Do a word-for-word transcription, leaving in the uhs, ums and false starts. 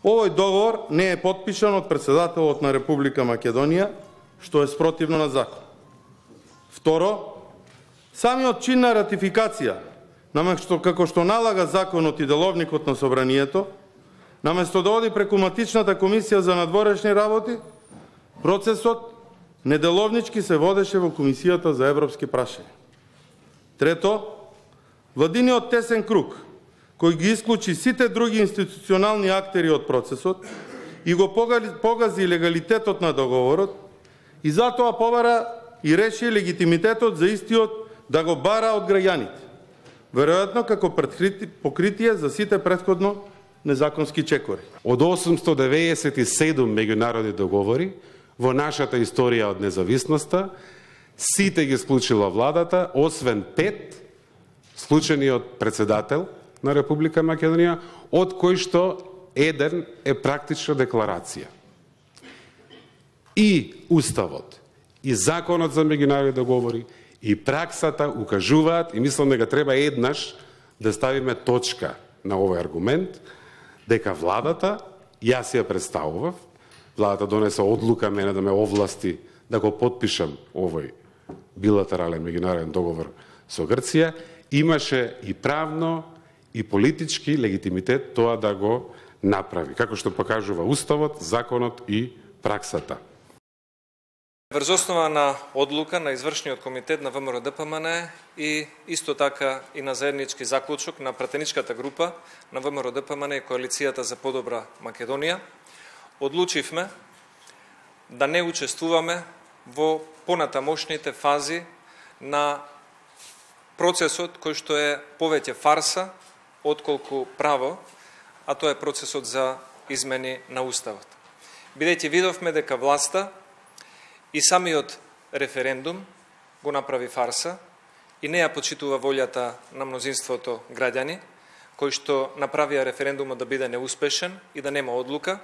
Овој договор не е потпишан од председателот на Република Македонија, што е спротивно на закон. Второ, самиот чин на ратификација, наместо како што налага законот и деловникот на собранието, наместо да оди преку матичната комисија за надворешни работи, процесот неделовнички се водеше во Комисијата за европски прашања. Трето, владиниот тесен круг, кој ги исклучи сите други институционални актери од процесот и го погази легалитетот на договорот, и затоа побара и реши легитимитетот за истиот да го бара од граѓаните, веројатно како покритие за сите претходно незаконски чекори. Од осумстотини деветдесет и седум меѓународни договори во нашата историја од независноста, сите ги склучила владата, освен пет, склучени од председател на Република Македонија, од кој што еден е практична декларација. И Уставот, и Законот за меѓународни договори, и праксата укажуваат, и мислам дека треба еднаш да ставиме точка на овој аргумент, дека владата, јас ја представував, владата донесе одлука мене да ме овласти да го потпишам овој билатерален меѓународен договор со Грција, имаше и правно и политички легитимитет тоа да го направи, како што покажува Уставот, законот и праксата. Врз основа на одлука на извршниот комитет на ВМРО-ДПМН и исто така и на заеднички заклучок на пратеничката група на ВМРО-ДПМН и Коалицијата за подобра Македонија, одлучивме да не учествуваме во понатамошните фази на процесот кој што е повеќе фарса отколку право, а тоа е процесот за измени на Уставот. Бидејќи видовме дека власта и самиот референдум го направи фарса и не ја почитува волјата на мнозинството граѓани, кои што направија референдумот да биде неуспешен и да нема одлука,